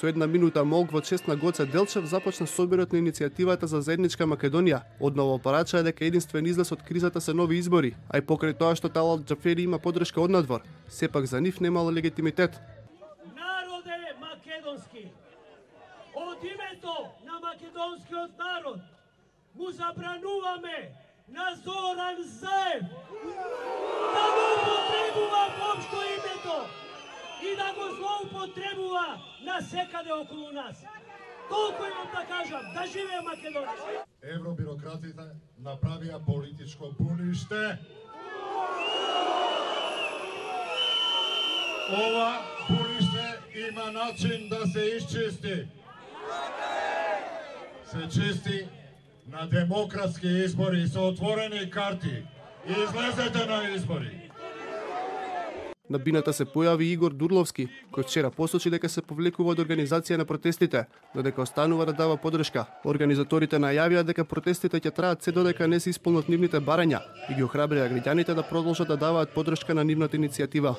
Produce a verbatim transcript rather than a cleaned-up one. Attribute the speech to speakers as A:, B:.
A: Со една минута молк во чест на Гоце Делчев започна собирот на иницијативата за заедничка Македонија. Одново порача дека единствен излез од кризата се нови избори, а и покрај тоа што Талал Џафери има подршка од надвор, сепак за нив немало легитимитет.
B: Народе македонски, од името на македонскиот народ му забрануваме на Зоран Заев да го употребува општо името и да го злоупотребува на секаде околу нас. Толку имам да кажам, да живее Македонија.
C: Евробирократите направија политичко буниште. Ова буниште има начин да се исчисти. Се чисти на демократски избори со отворени карти. Излезете на избори.
A: На бината се појави Игор Дурловски, кој вчера посочи дека се повлекува од организација на протестите, но дека останува да дава подршка. Организаторите најавија дека протестите ќе траат се додека не се исполнат нивните барања и ги охрабрија граѓаните да продолжат да даваат подршка на нивната иницијатива.